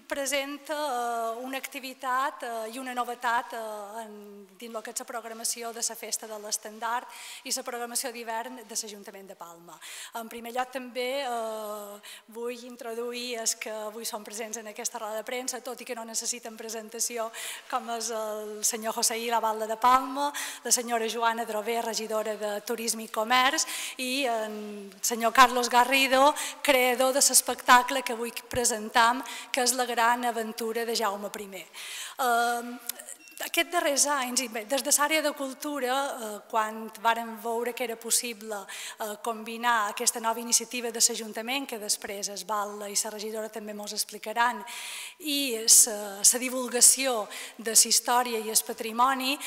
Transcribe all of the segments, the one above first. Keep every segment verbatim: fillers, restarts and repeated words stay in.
presenta una activitat i una novetat dins el que és la programació de la Festa de l'Estendard i la programació d'hivern de l'Ajuntament de Palma. En primer lloc també vull introduir els que avui són presents en aquesta roda de premsa, tot i que no necessiten presentació, com és el senyor José I. Lavalda de Palma, la senyora Joana Drover, regidora de Turisme i Comerç, i el senyor Carlos Garrido, creador de l'espectacle que avui presentam, que és la gran aventura de Jaume I. Aquests darrers anys, des de l'àrea de cultura, quan vàrem veure que era possible combinar aquesta nova iniciativa de l'Ajuntament, que després es Val i la regidora també ens explicaran, i la divulgació de la història i el patrimoni,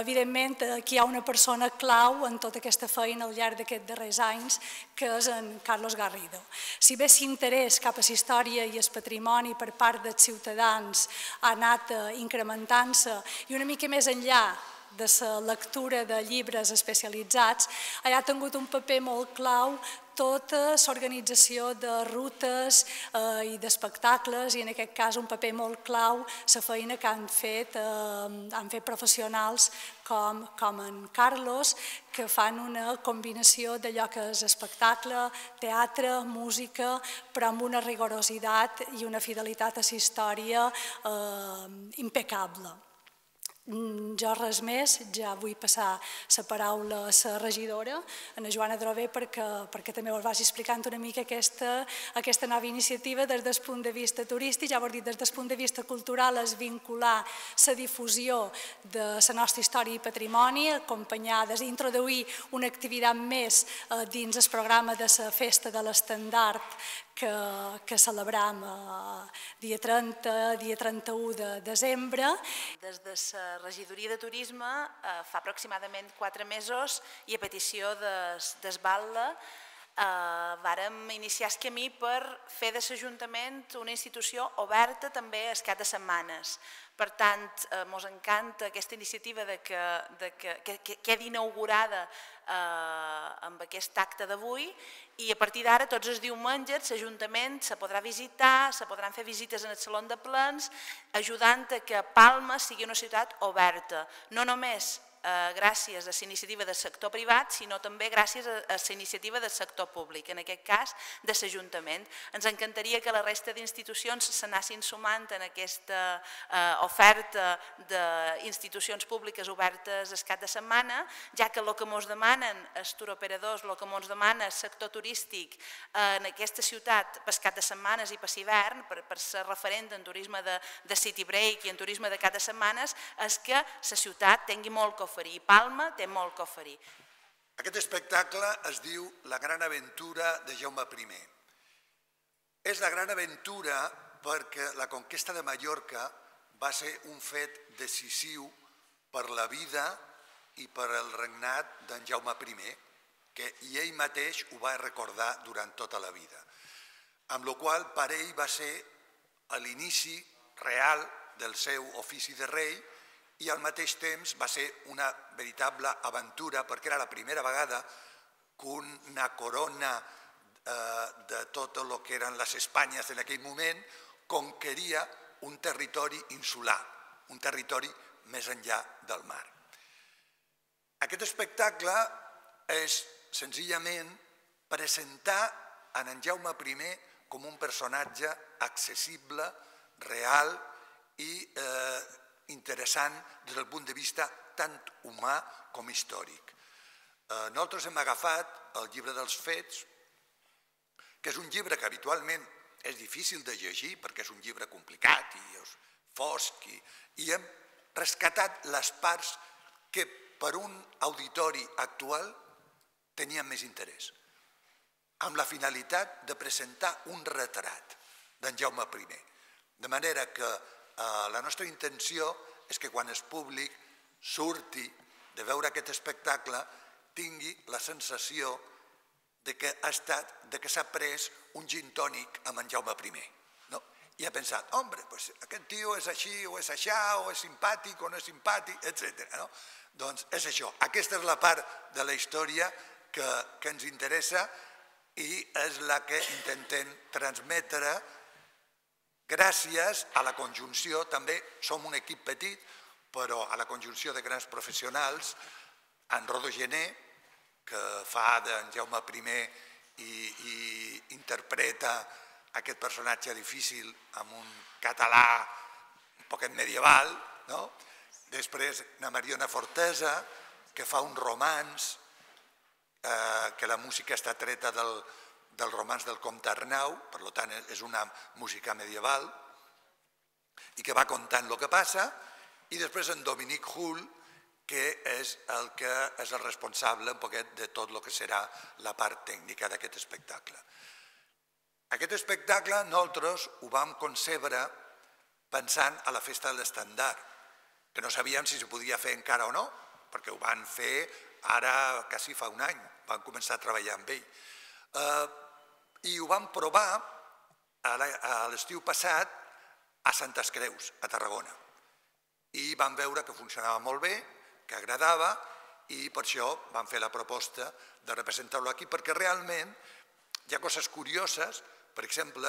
evidentment aquí hi ha una persona clau en tota aquesta feina al llarg d'aquests darrers anys, que és en Carlos Garrido. Si bé l'interès cap a la història i el patrimoni per part dels ciutadans ha anat incrementant i una mica més enllà de la lectura de llibres especialitzats, ha tingut un paper molt clau tota l'organització de rutes i d'espectacles i en aquest cas un paper molt clau la feina que han fet professionals com en Carlos, que fan una combinació d'allò que és espectacle, teatre, música, però amb una rigorositat i una fidelitat a la història impecable. Jo res més, ja vull passar la paraula a la regidora, a la Joana Drover, perquè també us vagi explicant una mica aquesta nova iniciativa des del punt de vista turístic. Ja ho he dit, des del punt de vista cultural és vincular la difusió de la nostra història i patrimoni, acompanyades, introduir una activitat més dins el programa de la Festa de l'Estendard que celebram dia trenta, dia trenta-u de desembre. Des de la regidoria de turisme fa aproximadament quatre mesos i a petició d'Esbalda vàrem iniciar el camí per fer de l'Ajuntament una institució oberta també al cap de setmanes. Per tant, ens encanta aquesta iniciativa que quedi inaugurada amb aquest acte d'avui i a partir d'ara tots els diumenges l'Ajuntament se podrà visitar, se podran fer visites en el Saló de Plens, ajudant a que Palma sigui una ciutat oberta, no només gràcies a la iniciativa del sector privat, sinó també gràcies a la iniciativa del sector públic, en aquest cas de l'Ajuntament. Ens encantaria que la resta d'institucions s'anessin sumant en aquesta oferta d'institucions públiques obertes el cap de setmana, ja que el que ens demanen els turoperadors, el que ens demana el sector turístic en aquesta ciutat per cap de setmanes i per l'hivern, per ser referent en turisme de city break i en turisme de cap de setmanes, és que la ciutat tingui molt que oferir i Palma té molt que oferir. Aquest espectacle es diu La gran aventura de Jaume I. És la gran aventura perquè la conquesta de Mallorca va ser un fet decisiu per la vida i per el regnat d'en Jaume I, que ell mateix ho va recordar durant tota la vida. Amb la qual cosa per ell va ser l'inici real del seu ofici de rei i al mateix temps va ser una veritable aventura perquè era la primera vegada que una corona de tot el que eren les Espanyes en aquell moment conqueria un territori insular, un territori més enllà del mar. Aquest espectacle és senzillament presentar en en Jaume I com un personatge accessible, real i interessant des del punt de vista tant humà com històric. Nosaltres hem agafat el llibre dels fets, que és un llibre que habitualment és difícil de llegir perquè és un llibre complicat i fosc, i hem rescatat les parts que per un auditori actual tenien més interès, amb la finalitat de presentar un retrat d'en Jaume I. De manera que la nostra intenció és que quan el públic surti de veure aquest espectacle tingui la sensació que s'ha pres un gin tònic amb en Jaume I. I ha pensat, home, aquest tio és així o és aixà, o és simpàtic o no és simpàtic, etcètera. Doncs és això. Aquesta és la part de la història que ens interessa i és la que intentem transmetre gràcies a la conjunció, també som un equip petit, però a la conjunció de grans professionals, en Rodo Gené, que fa d'en Jaume primer i interpreta aquest personatge difícil amb un català un poquet medieval, després na Mariona Fortesa, que fa un romanç, que la música està treta del romanç del Comte Arnau, per tant és una música medieval, i que va contant el que passa, i després en Dominic Hull, que és el que és el responsable un poquet de tot el que serà la part tècnica d'aquest espectacle. Aquest espectacle nosaltres ho vam concebre pensant a la festa de l'estandard, que no sabíem si se podia fer encara o no, perquè ho van fer ara quasi fa un any, van començar a treballar amb ell. I ho vam provar a l'estiu passat a Santes Creus, a Tarragona. I vam veure que funcionava molt bé, que agradava, i per això vam fer la proposta de representar-lo aquí, perquè realment hi ha coses curioses. Per exemple,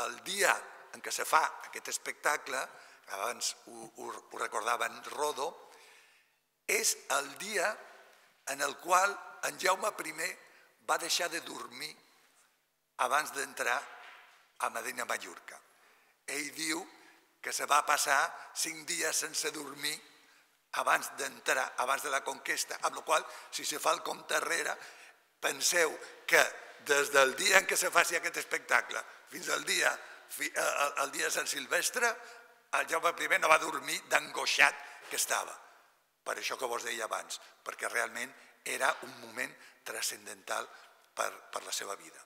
el dia en què se fa aquest espectacle, abans ho recordava en Rodo, és el dia en el qual en Jaume primer va deixar de dormir abans d'entrar a Medina Mallorca. Ell diu que se va passar cinc dies sense dormir abans d'entrar, abans de la conquesta, amb la qual cosa, si se fa el compte enrere, penseu que des del dia en què se faci aquest espectacle fins al dia de Sant Silvestre, el Jaume primer no va dormir d'angoixat que estava. Per això que vos deia abans, perquè realment era un moment transcendental per la seva vida.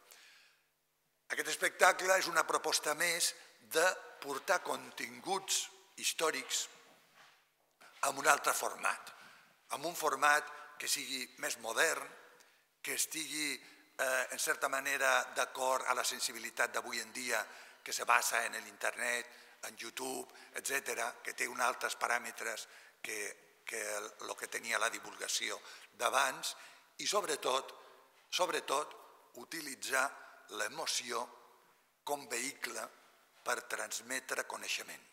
Aquest espectacle és una proposta més de portar continguts històrics amb un altre format, amb un format que sigui més modern, que estigui en certa manera d'acord a la sensibilitat d'avui en dia, que se basa en l'internet, en YouTube, etcètera, que té uns altres paràmetres que el que tenia la divulgació d'abans, i sobretot, sobretot, utilitzar l'emoció com vehicle per transmetre coneixement.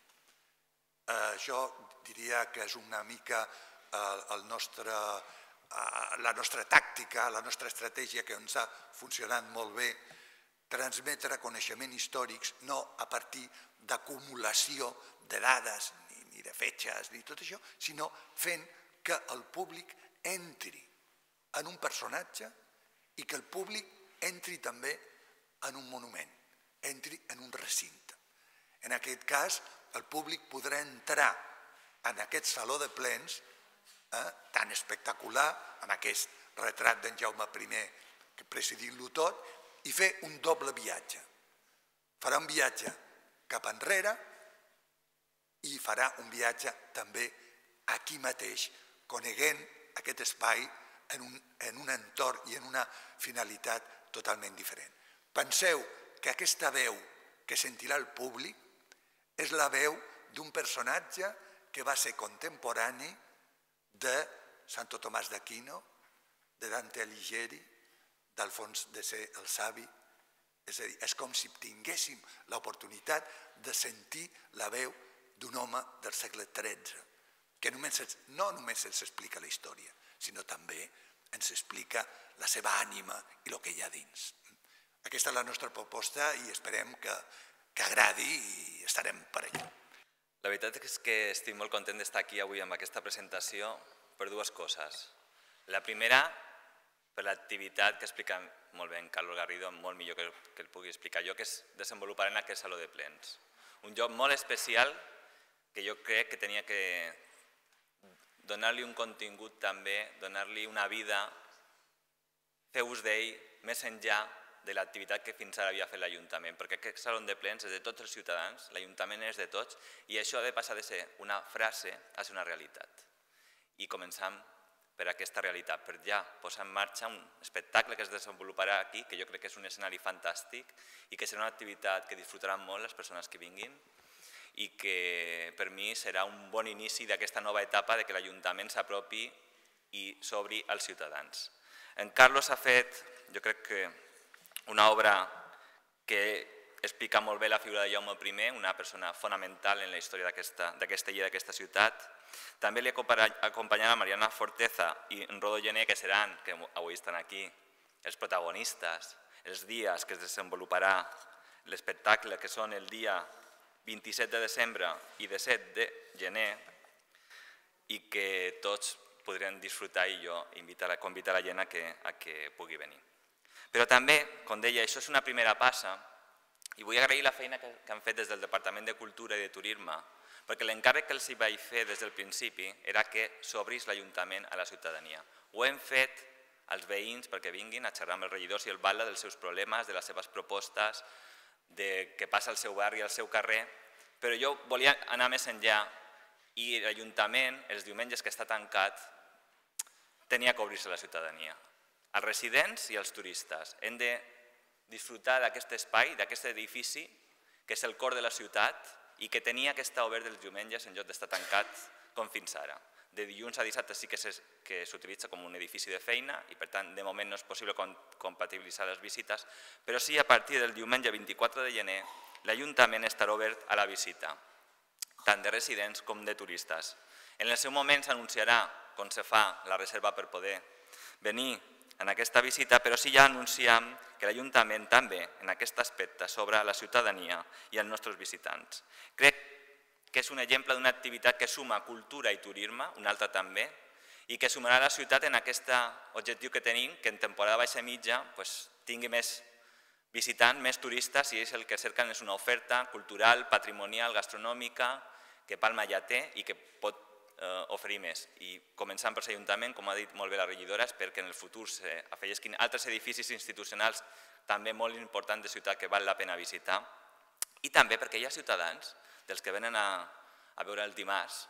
Això diria que és una mica la nostra tàctica, la nostra estratègia que ens ha funcionat molt bé, transmetre coneixements històrics no a partir d'acumulació de dades, ni de fetges, ni tot això, sinó fent que el públic entri en un personatge i que el públic entri també en un monument, entri en un recinte. En aquest cas, el públic podrà entrar en aquest saló de plens tan espectacular, amb aquest retrat d'en Jaume primer presidint-lo tot, i fer un doble viatge. Farà un viatge cap enrere i farà un viatge també aquí mateix, coneguent aquest espai en un entorn i en una finalitat totalment diferent. Penseu que aquesta veu que sentirà el públic és la veu d'un personatge que va ser contemporani de Santo Tomàs d'Aquino, de Dante Alighieri, d'Alfons de Sé el Savi. És a dir, és com si tinguéssim l'oportunitat de sentir la veu d'un home del segle tretze, que no només ens explica la història, sinó també ens explica la seva ànima i el que hi ha dins. Aquesta és la nostra proposta i esperem que agradi i estarem per allà. La veritat és que estic molt content d'estar aquí avui amb aquesta presentació per dues coses. La primera, per l'activitat que explica molt bé en Carlos Garrido, molt millor que el pugui explicar jo, que es desenvoluparà en aquest saló de plens. Un lloc molt especial que jo crec que tenia que donar-li un contingut també, donar-li una vida, fer ús d'ell més enllà de l'activitat que fins ara havia fet l'Ajuntament, perquè aquest saló de plens és de tots els ciutadans, l'Ajuntament és de tots, i això ha de passar de ser una frase a ser una realitat. I començam per aquesta realitat, per ja posar en marxa un espectacle que es desenvoluparà aquí, que jo crec que és un escenari fantàstic i que serà una activitat que disfrutaran molt les persones que vinguin i que per mi serà un bon inici d'aquesta nova etapa de que l'Ajuntament s'apropi i s'obri als ciutadans. En Carlos ha fet, jo crec que una obra que explica molt bé la figura de Jaume primer, una persona fonamental en la història d'aquesta illa, d'aquesta ciutat. També li acompanyava Mariana Forteza i Rodo Gené, que seran, que avui estan aquí, els protagonistes, els dies que es desenvoluparà l'espectacle, que són el dia vint-i-set de desembre i disset de gener, i que tots podrem disfrutar i jo convidar la gent a que pugui venir. Però també, com deia, això és una primera passa i vull agrair la feina que han fet des del Departament de Cultura i de Turisme, perquè l'encàrrec que els vaig fer des del principi era que s'obrís l'Ajuntament a la ciutadania. Ho hem fet als veïns perquè vinguin a xerrar amb els regidors i el batlle dels seus problemes, de les seves propostes, de què passa al seu barri, al seu carrer, però jo volia anar més enllà i l'Ajuntament, els diumenges que està tancat, tenia que obrir-se a la ciutadania. Els residents i els turistes hem de disfrutar d'aquest espai, d'aquest edifici, que és el cor de la ciutat i que tenia que estar obert els diumenges en lloc d'estar tancat com fins ara. De dilluns a dissabte sí que s'utilitza com un edifici de feina i per tant de moment no és possible compatibilitzar les visites, però sí a partir del diumenge vint-i-quatre de gener l'Ajuntament estarà obert a la visita, tant de residents com de turistes. En el seu moment s'anunciarà com se fa la reserva per poder venir en aquesta visita, però sí ja anunciem que l'Ajuntament també en aquest aspecte s'obre a la ciutadania i als nostres visitants. Crec que és un exemple d'una activitat que suma cultura i turisme, una altra també, i que sumarà a la ciutat en aquest objectiu que tenim, que en temporada baixa mitja tingui més visitants, més turistes, i és el que cerquen és una oferta cultural, patrimonial, gastronòmica, que Palma ja té i que pot oferir més. I començant per l'Ajuntament, com ha dit molt bé la regidora, espero que en el futur s'afegisquin altres edificis institucionals també molt importants de ciutat que val la pena visitar, i també perquè hi ha ciutadans dels que venen a veure el dimarts,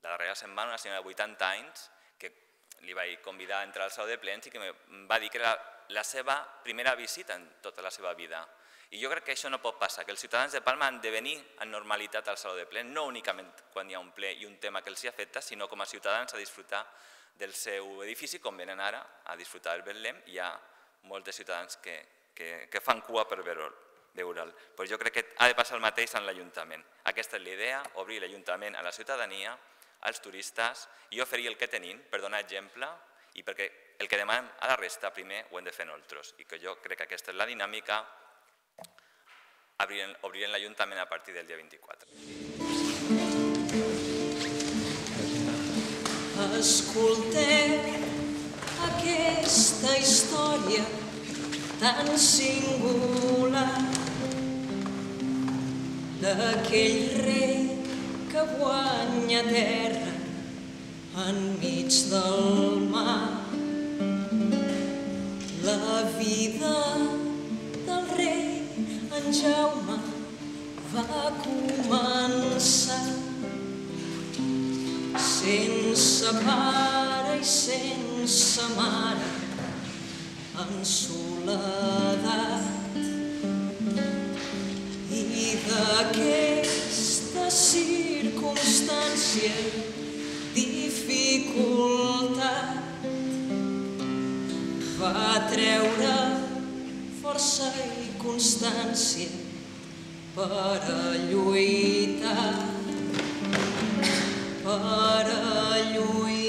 la darrera setmana, una senyora de vuitanta anys, que li vaig convidar a entrar al saló de plens i que em va dir que era la seva primera visita en tota la seva vida. I jo crec que això no pot passar, que els ciutadans de Palma han de venir amb normalitat al saló de plens, no únicament quan hi ha un ple i un tema que els afecta, sinó com a ciutadans a disfrutar del seu edifici, com venen ara a disfrutar del Betlem, i hi ha molts de ciutadans que fan cua per veure'l. Però jo crec que ha de passar el mateix en l'Ajuntament. Aquesta és l'idea, obrir l'Ajuntament a la ciutadania, als turistes, i oferir el que tenim per donar exemple i perquè el que demanem a la resta primer ho hem de fer nosaltres. I que jo crec que aquesta és la dinàmica, obrirem l'Ajuntament a partir del dia vint-i-quatre. Escolteu aquesta història tan singular d'aquell rei que guanya terra enmig del mar. La vida del rei en Jaume va començar sense pare i sense mare, en soledat. I d'aquesta circumstància, dificultat, va treure força i constància per a lluitar, per a lluitar.